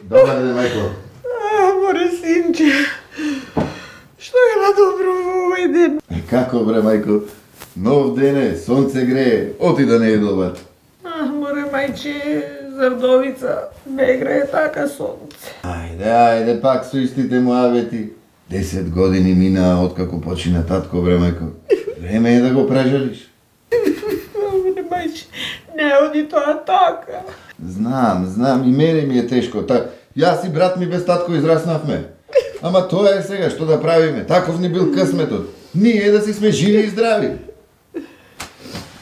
Добар ден, мајко. Море синче, што е на добро во овој ден? Како бре, мајко? Нов ден е, сонце грее, оти да не е добар. Море мајче, Зардовица, не грее така сонце. Ајде, пак со истите муавети. 10 години мина откако почина татко, бре, мајко. Време е да го прежалиш. Море мајче, не оди тоа така. Знам, и мене ми е тешко. Јас и брат ми без татко израснавме. Ама тоа е сега, што да правиме? Таков ни бил късметот. Ние да си сме живи и здрави.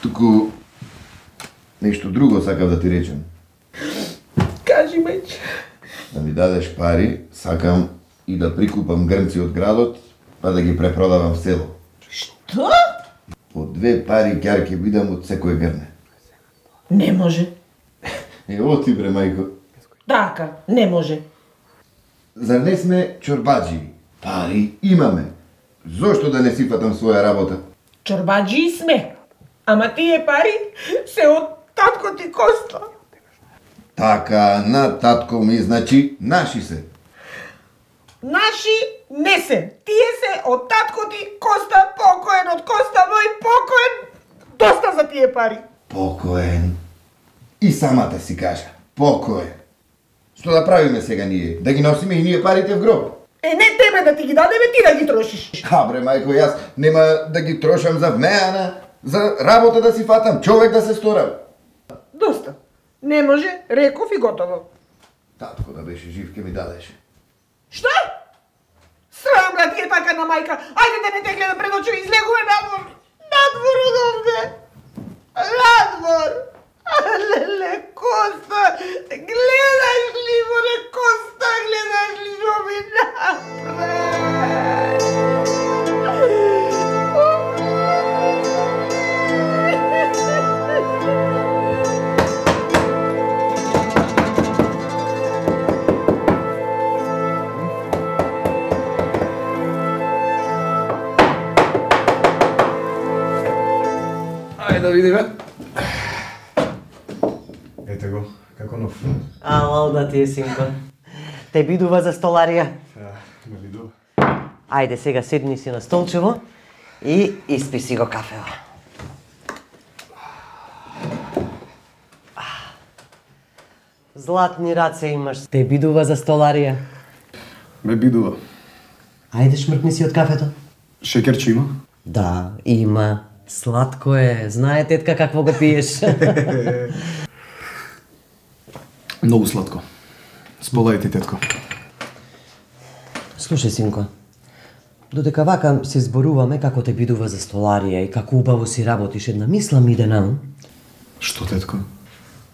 Туку нешто друго сакав да ти речем. Кажи, мајче. Да ми дадеш пари, сакам и да прикупам грнци од градот, па да ги препродавам в село. Што? По 2 пари ќар ќе бидам од секој грне. Не може. Оти бре, мајко. Така, не може. Зар не сме чорбадживи? Пари имаме. Зошто да не си фатам своја работа? Чорбаджи сме. Ама тие пари се од татко ти Коста. Така, на татко ми, значи, наши се. Наши не се. Тие се од татко ти Коста, покоен од Коста мој, покоен. Доста за тие пари. Покоен. И самата си кажа. Покоен. Што да правиме сега ние? Да ги носиме и ние парите в гроб? Не тебе да ти ги дадеме, ти да ги трошиш. Бре, мајко, јас нема да ги трошам за вмеана, за работа да си фатам, човек да се сторам. Доста. Не може, реков и готово. Татко да беше жив, ке ми дадеше. Што? Срам да ти е така на мајка. Ајде да не те гледам пред очи, излегуваме надвор. Надвор од овде. Надвор. Леле, Коста, гледаш ли, море, Коста, гледаш ли што ми направи? Ајде да видиме. Ете го, како нов. Алал да ти е, синко. Те бидува за столарија. Ме видува. Ајде сега седни си на столчево и испи си го кафево. Златни раце имаш. Те бидува за столарија. Ме бидува. Ајде шмркни си од кафето. Шекерче има? Да, има. Сладко е. Знае тетка какво го пиеш. Многу сладко. Сполај ти, тетко. Слушај, синко. Додека вака се зборуваме како те бидува за столарија и како убаво си работиш, една мисла ми иде наум. Што, тетко?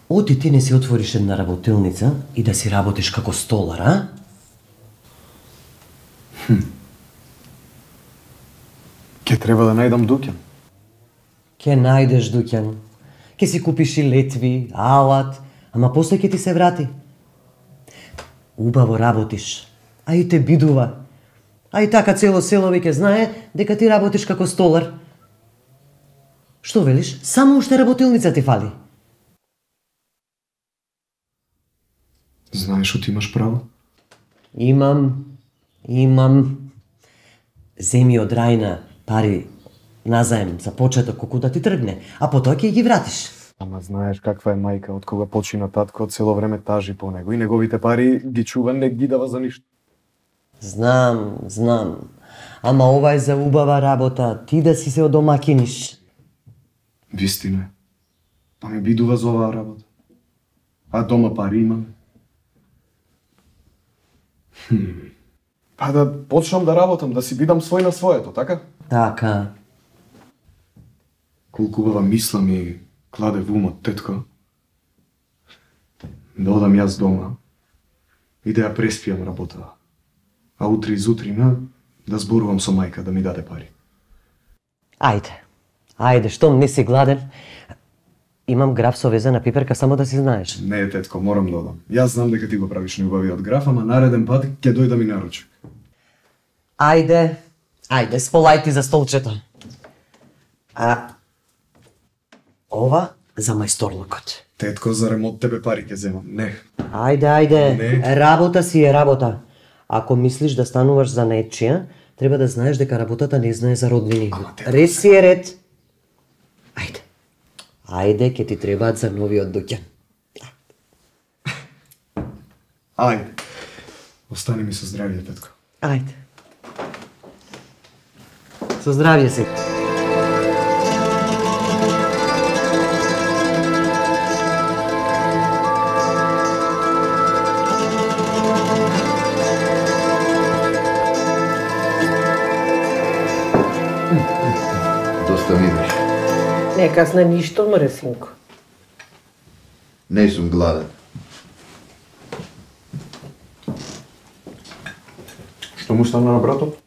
Оти ти не си отвориш една работилница и да си работиш како столар, а? Ке треба да најдам дуќан. Ке најдеш дуќан. Ке си купиш и летви, алат, ама после ке ти се врати. Убаво работиш, а и те бидува. А и така цело село веќе знае дека ти работиш како столар. Што велиш? Само уште работилница ти фали. Знаеш оти имаш право? Имам. Земи од Рајна пари назаем за почеток колку да ти тргне, а потоа ќе ги вратиш. Ама знаеш каква е мајка, од кога почина татко, од цело време тажи по него и неговите пари ги чува, не ги дава за ништо. Знам. Ама ова е за убава работа, ти да си се одомакиниш. Вистина е. Па ме бидува за оваа работа. А дома пари имаме. Па да почнам да работам, да си бидам свој на своето, така? Така. Колку убава мисла ми кладе во умот, тетко. Да одам јас дома и да ја преспијам работа. А утре изутрина да зборувам со мајка да ми даде пари. Ајде, штом не си гладен, имам граф со везена пиперка, само да си знаеш. Не, тетко, морам да одам. Јас знам дека ти го правиш неубавиот граф, ама нареден пат ќе дојдам и наручек. Ајде, сполај ти за столчето. А ова за мајсторлукот. Тетко, зарем од тебе пари ќе земам? Не. Ајде, Не. работа си е работа. Ако мислиш да стануваш за нечија, треба да знаеш дека работата не знае за роднини. Ред си е ред. Ајде, ќе ти требаат за новиот дуќан. Ајде. Остани ми со здравје, тетко. Ајде. Со здравје си. Доста видиш. Не касна ништо, море, синко. Не сум гладен. Што му стана на братот?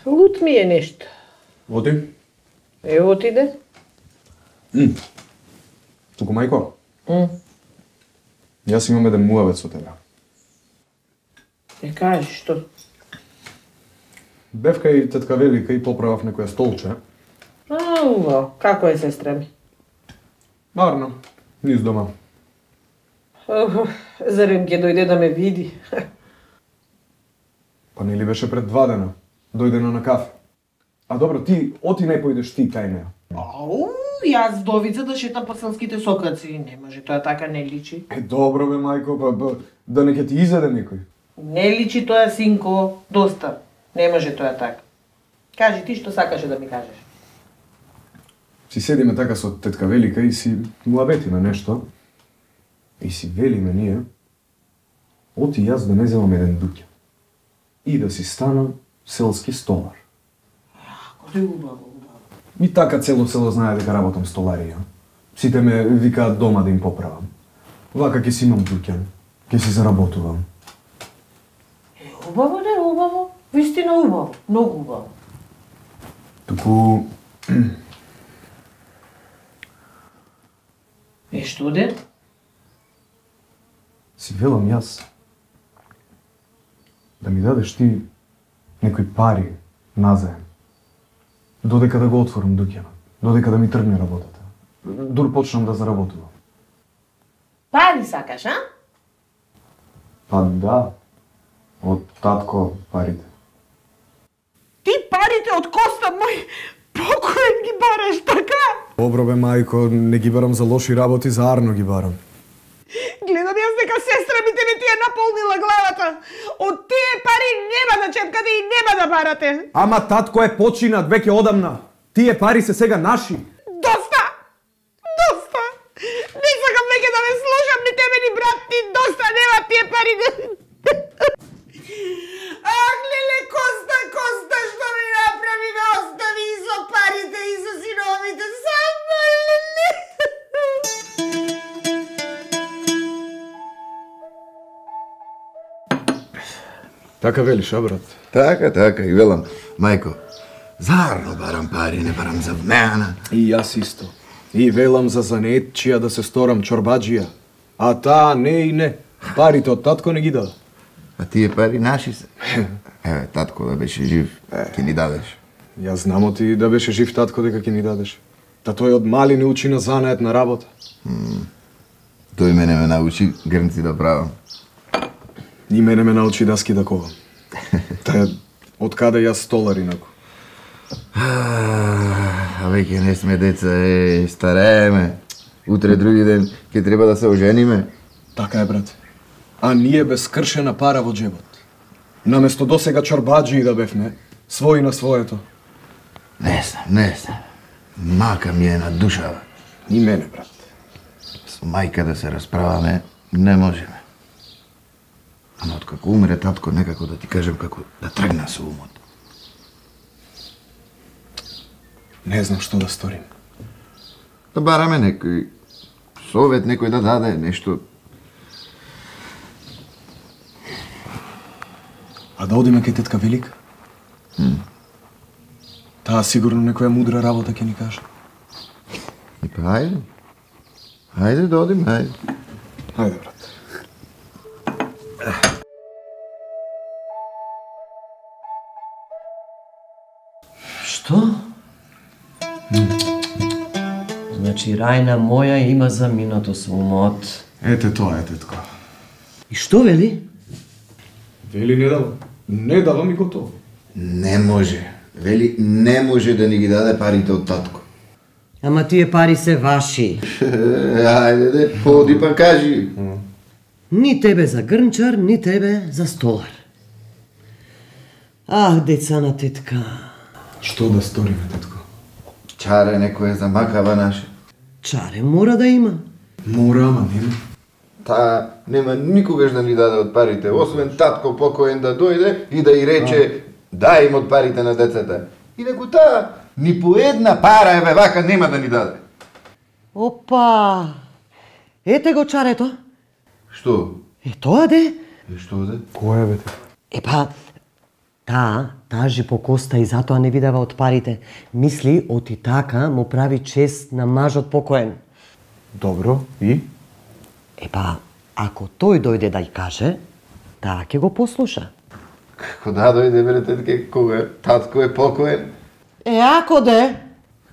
Лут ми е нешто. Оди? Отиде. Туку мајко? Јас имам еден муавет со тебе. Кажи, што? Бев кај тетка Велика и поправав некоја столче. Убаво. Како е сестра ми? Марно, низ дома. Зарем ќе дојде да ме види? Па нели беше пред 2 дена? Дојдена на кафе. А добро, ти оти не појдеш ти кај неа. Ау, јас довица да шетам по селските сокаци. Не може, тоа така не личи. Добро бе, мајко, па да не ќе ти изеде некој. Не личи тоа, синко. Доста. Не може тоа така. Кажи ти што сакаше да ми кажеш. Си седиме така со тетка Велика и си муабетиме нешто. И си велиме ние, оти јас да не земам еден дуќан. И да си станам селски столар. Како е убаво. И така цело село знае дека работам столарија. Сите ме викаат дома да им поправам. Вака ќе си имам дуќан, ќе си заработувам. Убаво, не убаво. Вистина убаво. Многу убаво. Туку... Што де? Си велам јас да ми дадеш ти некои пари назаем. Додека да го отворам дуќанот, додека да ми тргне работата. Дур почнам да заработувам. Пари сакаш, а? Па да, од татко парите. Ти парите од Коста мој покоен ги бараш, така? Добро бе, мајко, не ги барам за лоши работи, за арно ги барам. Гледам јас дека сестра ми тебе ти е наполнила главата. Од тие пари нема да чепкате и нема да барате. Ама татко е починат веќе одамна. Тие пари се сега наши. Доста! Доста! Не сакам веќе да ме слушам ни тебе ни брат ти. Доста нема тие пари. Ах, леле, Коста, Коста, што ми направи, ме остави и со парите и со синовите. Само, леле. Така велиш, а брат? Така, и велам, мајко, зарно барам пари, не барам за вмеана. И јас исто. И велам за занетчија да се сторам чорбаджија. А таа не и не. Парите од татко не ги дада. А тие пари наши се. Еве, татко да беше жив, ќе ни дадеш. Јас знамо ти да беше жив татко дека ќе ни дадеш. Та тој од мали не учи на занает на работа. Тој мене ме научи грнци да правам. И мене ме научи даски да ковам. Та од каде јас столар инаку. А веќе не сме деца, старееме. Утре други ден ќе треба да се ожениме. Така е, брат. А ние без скршена пара во джебот. Наместо досега чорбаджи да бевме, свој на своето. Не знам. Мака ми е на душава. И мене, брат. Со мајка да се расправаме, не можеме. Ама откако умре татко, некако да ти кажем како да тргна со умот. Не знам што да сторим. Да бараме некој совет, некој да даде нешто. А да одиме кај тетка Велика? Таа сигурно некоја мудра работа ќе ни каже. И па ајде. Ајде да одиме, ајде. Ајде, брат. Што? Значи, Рајна моја има заминато со умот. Ете тоа е, тетко. И што вели? Вели не дава. Не дава ми готово. Не може. Вели, не може да ни ги даде парите од татко. Ама тие пари се ваши. Ајде, поди па кажи. Ни тебе за грнчар, ни тебе за столар. Ах, деца на тетка. Што да сториме, тетко? Чаре некој замакава наше. Чаре мора да има. Мора, ама нема. Таа нема никогаш да ни даде од парите, освен татко покоен да дојде и да и рече дај им од парите на децата. Инаку таа ни по една пара еве вака нема да ни даде. Опа! Ете го чарето. Што? Тоа де. Што де? Која бе, тетко? Епа, таа тажи по коста и затоа не видава од парите. Мисли, оти така му прави чест на мажот покоен. Добро, и? Епа, ако тој дојде да ја каже, таа ќе го послуша. Како да дојде бре тетке, кога татко е покоен? Ако де?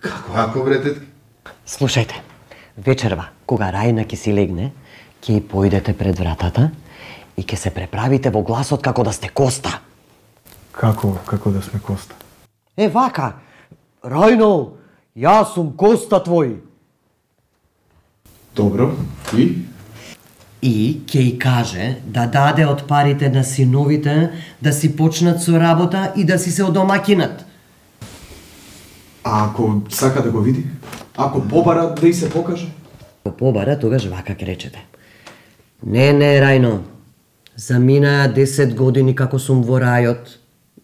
Како ако бре тетке? Слушајте, вечерва, кога Рајна ќе си легне, ќе и појдете пред вратата и ќе се преправите во гласот како да сте Коста. Како да сме Коста? Е, вака, Рајно, јас сум Коста твој. Добро, и? И ќе и каже да даде од парите на синовите да си почнат со работа и да си се одомакинат. А ако сака да го види? Ако побара да и се покаже? Ако побара, тогаш вака ќе речете. Не, Рајно, заминаа 10 години како сум во рајот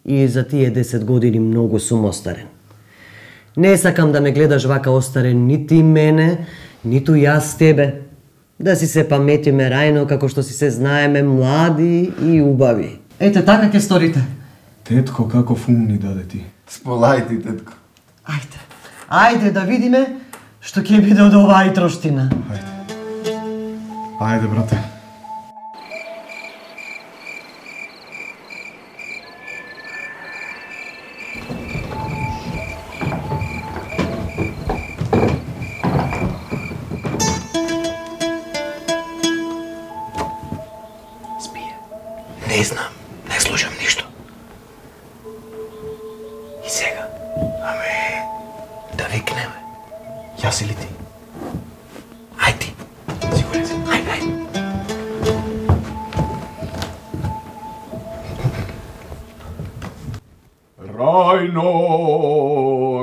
и за тие 10 години многу сум остарен. Не сакам да ме гледаш вака остарен ни ти мене, ниту јас тебе. Да си се паметиме, Рајно, како што си се знаеме млади и убави. Ете, така ќе сторите. Тетко, каков ум ни даде ти? Сполајте, тетко. Ајде да видиме што ќе биде од оваа троштина. Ајде, брате. Не знам, не слушам ништо. И сега, да викнеме. Јас или ти? Ајде, сигурен си. Ајде. Рајно,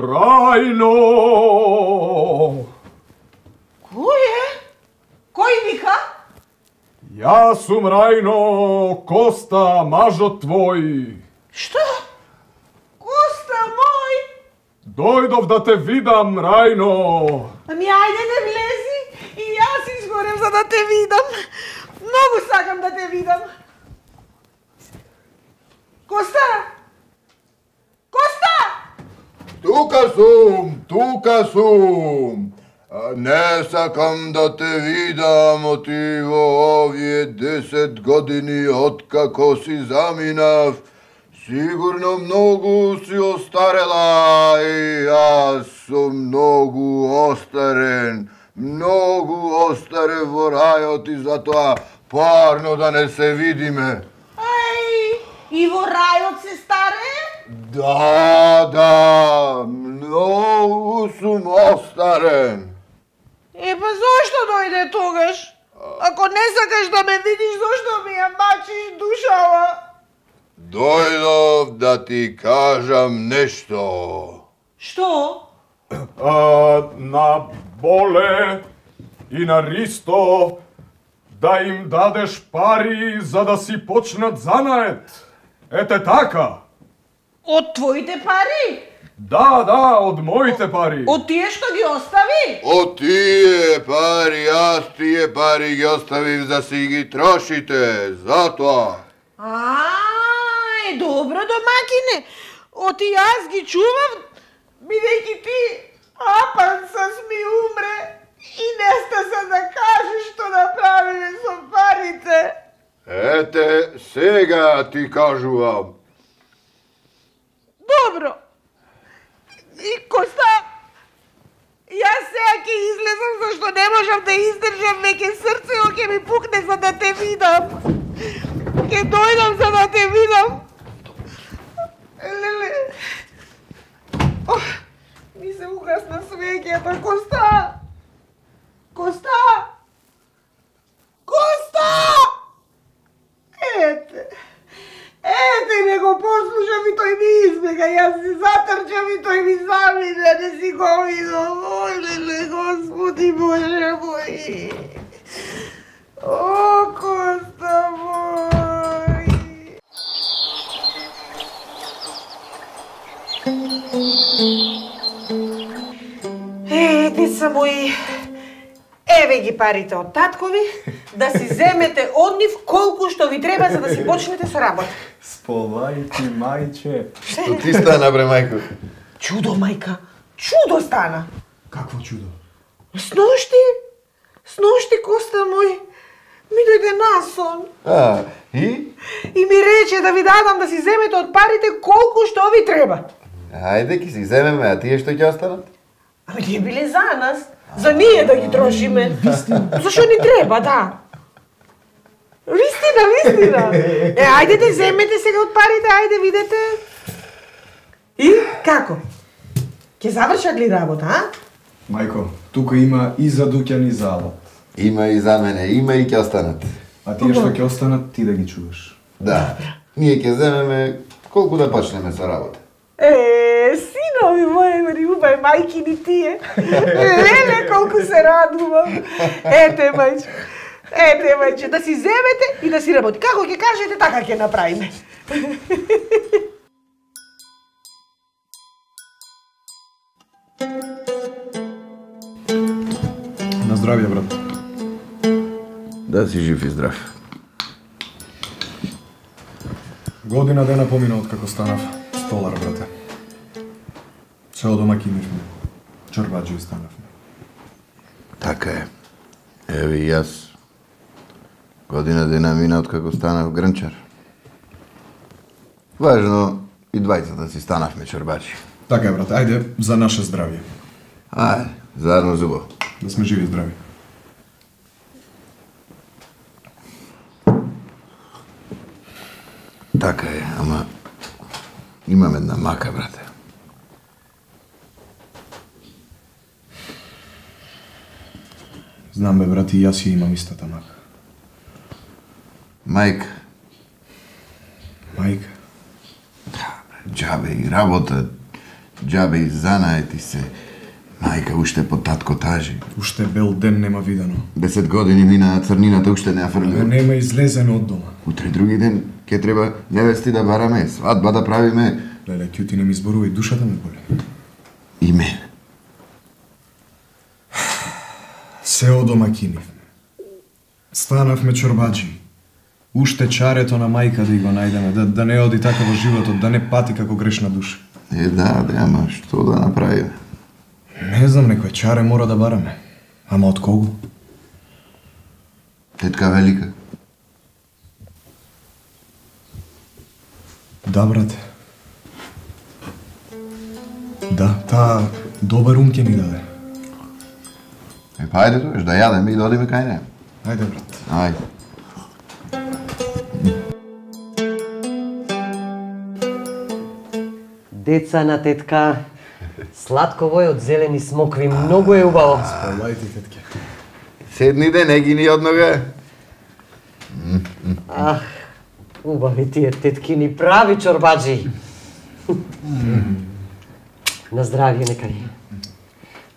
Рајно! Кој е? Кој вика? Јас сум Рајно, Коста, мажот твој. Што? Коста мој? Дојдов да те видам, Рајно. Ами ајде не влези и јас изгорев за да те видам. Многу сакам да те видам. Коста? Коста? Тука сум. Не сакам да те видам оти во овие 10 години откако си заминав. Сигурно многу си остарела и јас сум многу остарен. Многу остарен во рајот и затоа парно да не се видиме. Ај, и во рајот се старе? Да, многу сум остарен. Епа зошто дојде тогаш? Ако не сакаш да ме видиш, зошто ми ја мачиш душава? Дојдов да ти кажам нешто. Што? На Боле и на Ристо да им дадеш пари за да си почнат занает. Ете така. Од твоите пари? Да, од моите пари. Од тие што ги остави? Од тие пари, јас тие пари ги оставив да си ги трошите, затоа. Добро домакине. Оти јас ги чував, бидејќи ти апансас ми умре и не стаса да кажеш што направиле со парите. Ете, сега ти кажувам. Добро. И Коста, јас сега ќе излезам зашто не можам да издржам веќе, срцето ќе ми пукне за да те видам. Ќе дојдам за да те видам. Леле. Ми се угасна свеќето. Коста! Коста! Коста! Ете, не го послушам и тој ми избега. Јас се затрчам и тој ми замине, не си го видам. Ој, леле, Господи Боже мој. О, Коста мој. Деца мои, еве ги парите од таткови, да си земете од нив колку што ви треба за да си почнете со работа. Сполајки, мајче. Што ти стана, бре, мајко? Чудо, мајка, чудо стана. Какво чудо? Сношти, Коста мој, ми дојде насон. И? И ми рече да ви дадам да си земете од парите колку што ви треба. Ајде, ки си земеме, а тие што ќе останат? Ами тие биле за нас, за ние да ги трошиме. Зашо ни треба, да. Вистина. Ајде да земете сега од парите, ајде видете. И како? Ќе завршат ли работа, а? Мајко, тука има и за Дуќан и за Алот. Има и за мене, има и ќе останат. А тие што ќе останат, ти да ги чуваш. Да, ние ќе земеме колку да почнеме со работа. Синови мои, љубај мајки ни тие. Леле, колку се радувам. Ете, мајче, да си земете и да си работи. Како ќе кажете, така ќе направиме. На здравје, брат. Да си жив и здрав. Година дена помина од како станав столар, брате. Се одомакинивме. Чорбаџи станавме. Така е. Еве и јас. Година дена мина од како станав грнчар. Важно, и двајцата си станавме чорбачи. Така е, брате, ајде за наше здравје. Ајде, заедно зубо. Да сме живи и здрави. Така е, ама имам една мака, брате. Знам бе, брат, и јас ја имам истата мака. Мајка. Мајка. Џабе и работа, џабе и занаети се. Мајка уште под татко тажи. Уште бел ден нема видено. 10 години мина, црнината уште не ја фрлила. Нема излезено од дома. Утре други ден ќе треба невести да бараме, свадба да правиме. Леле, ќути не ми зборува и душата ме боли. И мене. Се одомакинивме. Станавме чорбаџи. Уште чарето на мајка да и го најдеме, да не оди така во животот, да не пати како грешна душа. Да, ама што да направиме? Не знам, некој чаре мора да бараме. Ама од кого? Тетка Велика. Да, брате. Да, таа добар ум ќе ни даде. Па ајде тоеш, да јадеме и да одиме кај неја. Ајде, брат. Ајде. Деца на тетка, сладково е од зелени смокви, многу е убаво. Полајте, тетке. Седниде, не ги ни однога. Ах, убави тие теткини прави чорбаџи. На здравје некари.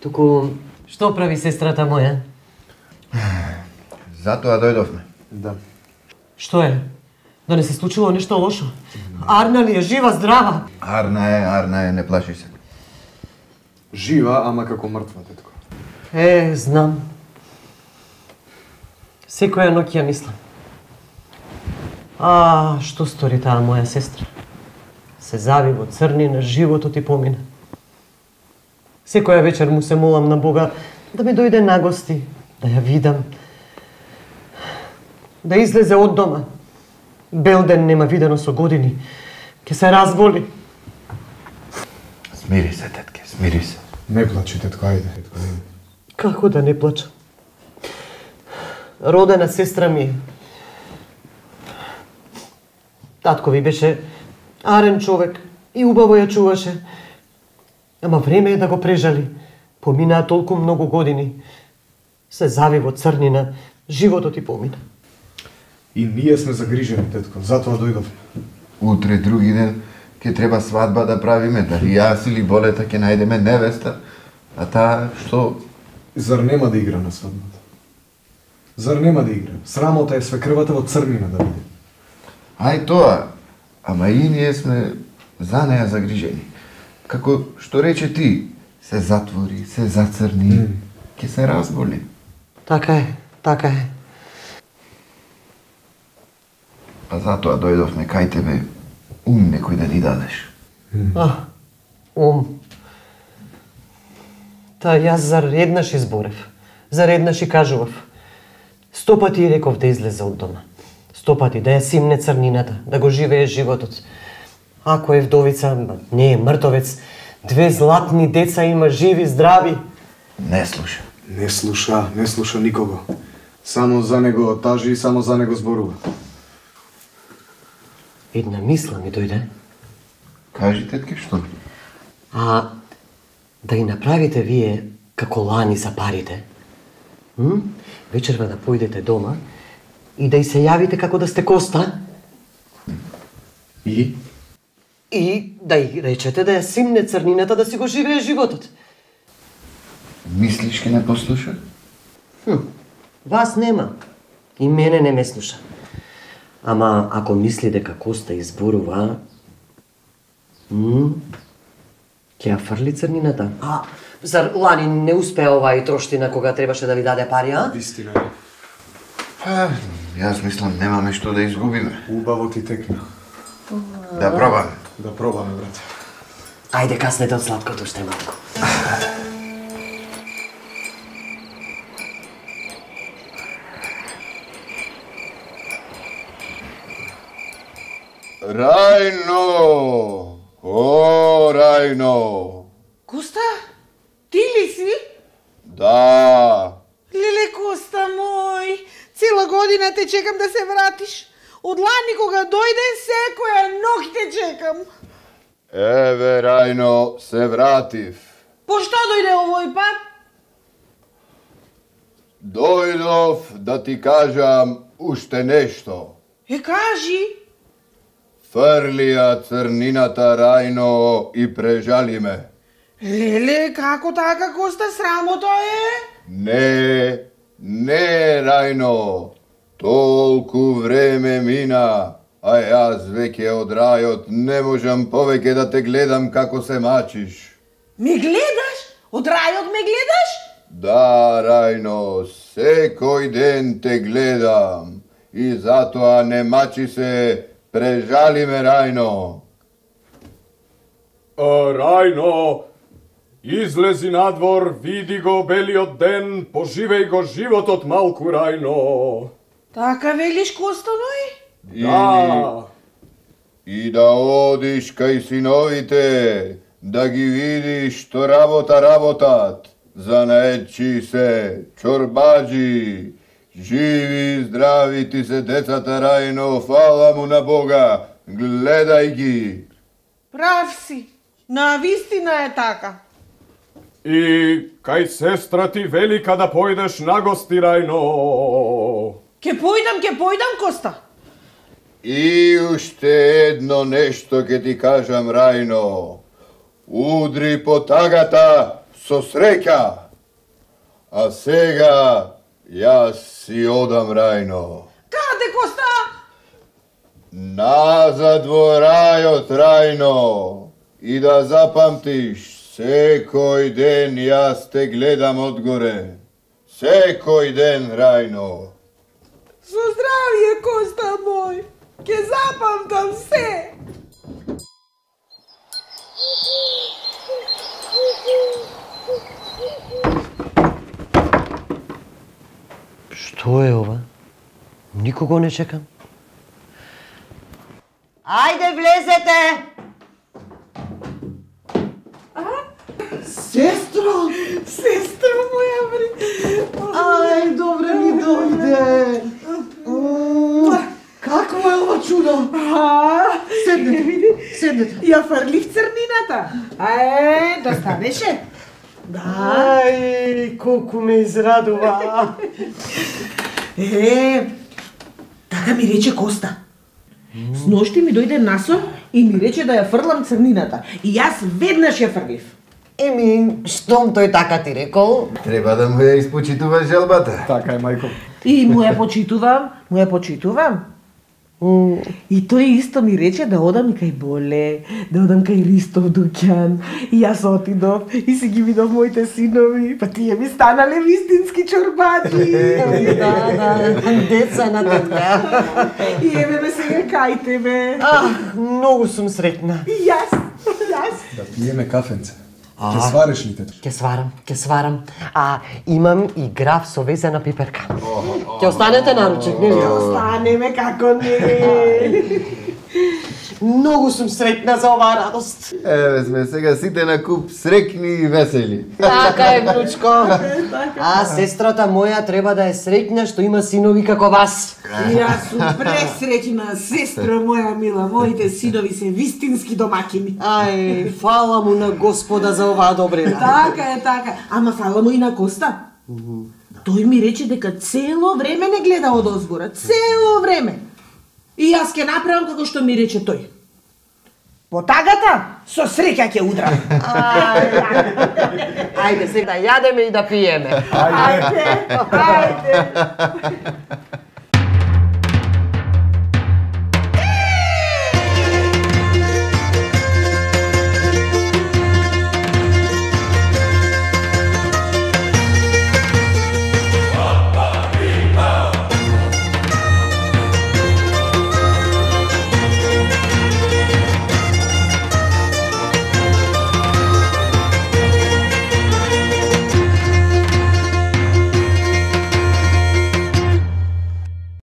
Туку, што прави сестрата моја? Затоа дојдовме. Да. Што е? Да не се случило нешто лошо? Арна ли е жива, здрава? Арна е, не плаши се. Жива, ама како мртва, тетко. Знам. Секоја ноќ ја мислам. Што стори таа моја сестра? Се зави во црнина, животот и помина. Секоја вечер му се молам на Бога да ми дојде на гости, да ја видам, да излезе од дома. Бел ден нема видено со години. Ке се разболи. Смири се, тетке, смири се. Не плачи, тетко, ајде, тетко, не. Како да не плачам? Родена сестра ми е. Татко ви беше арен човек и убаво ја чуваше. Ама време е да го прежали. Поминаа толку многу години. Се зави во црнина, животот и помина. И ние сме загрижени, тетко, затоа дојдовме. Утре, други ден, ќе треба свадба да правиме, дали јас или Болета ќе најдеме невеста, а таа што... Зар нема да игра на свадбата? Зар нема да игра? Срамота е свекрвата во црнина да биде. Ај тоа, ама и ние сме за неја загрижени. Како што рече ти, се затвори, се зацрни, ќе се разболи. Така е, така е. Па затоа дојдовме кај тебе, некој да ни дадеш. Та јас зар еднаш изборев, зар еднаш и кажував. 100 пати реков да излезе од дома. 100 пати да ја симне црнината, да го живее животот. Ако е вдовица, не е мртовец, 2 златни деца има живи, здрави. Не слуша. Не слуша никого. Само за него тажи и само за него зборува. Една мисла ми дојде. Кажи, тетке, што? Да ги направите вие како лани за парите. Вечерва да појдете дома и да и се јавите како да сте Коста. И Да и речете да ја симне црнината, да си го живее животот. Мислиш ке не послуша? Вас нема. И мене не ме слуша. Ама ако мисли дека Коста изборува, ќе ја фрли црнината. Зар лани не успеа оваа и троштина кога требаше да ви даде пари, а? вистина е. Јас мислам немаме што да изгубиме. Убаво ти текна. Да пробаме. Да пробаме, брате. Ајде, каснете од сладкото уште малку. Рајно! О, Рајно! Коста, ти ли си? Да. Леле, Коста мој, цела година те чекам да се вратиш. Од лани кога дојде, секоја ног те чекам. Еве, Рајно, се вратив. По што дојде овој пат? Дојдов да ти кажам уште нешто. Кажи. Фрлија црнината, Рајно, и прежали ме. Леле, како така, Коста, срамота е? Не, Рајно. Толку време мина, а јас веќе од рајот не можам повеќе да те гледам како се мачиш. Ме гледаш? Од рајот ме гледаш? Да, Рајно, секој ден те гледам и затоа не мачи се, прежали ме, Рајно. Рајно, излези надвор, види го белиот ден, поживеј го животот малку, Рајно. Така велиш, Коста мој? Да. И да одиш кај синовите, да ги видиш што работат, занаетчи се, чорбаджи, живи и здрави ти се децата, Рајно, фала му на Бога, гледај ги. Прав си, на вистина е така. И кај сестра ти велика да појдеш на гости, Рајно. Ке појдам, Коста. И уште едно нешто ќе ти кажам, Рајно. Удри по тагата со среќа. А сега јас си одам, Рајно. Каде, Коста? Назад во рајот, Рајно. И да запамтиш, секој ден јас те гледам одгоре. Секој ден, Рајно. Со здравје, Коста мој. Ке запамтам се. Што е ова? Никого не чекам. Ајде, влезете! Сестро, Сестро! Сестро моја бри! Ај, добре ми дојде. Какво е ова чудо? Седнете. Ја фрлив црнината. Да станеше? Ај, колку ме израдува. Така ми рече Коста. Сношти ми дојде насор и ми рече да ја фрлам црнината. И јас веднаш ја фрлив. Еми, штом тој така ти рекол? Треба да му ја испочитуваш желбата. Така е, мајко. И му ја почитувам. И тој исто ми рече да одам и кај Боле, да одам кај Ристов дуќан. И јас отидов и си ги видов моите синови, па тие ми станале вистински чорбади. Да, деца на тетка. И еве ме сега кај тебе. Многу сум среќна. И јас. Да пиеме кафенце. Ке свариш ли тето? Ќе сварам. А имам и граф со везена пиперка. Ќе останете на ручек, нели? Останеме како не. Многу сум среќна за оваа радост. Еве сме сега сите на куп среќни и весели. Така е, внучко. А сестрата моја треба да е среќна што има синови како вас. Јас сум пресреќна, сестро моја мила, моите синови се вистински домакини. Ај, фала му на Господа за оваа добрина. Така. Ама фала му и на Коста. Тој ми рече дека цело време не гледа од озгора, цело време. И јас ќе направам како што ми рече тој. По тагата, со среќа ќе удрам. Ајде сега да јадеме и да пиеме. Ајде.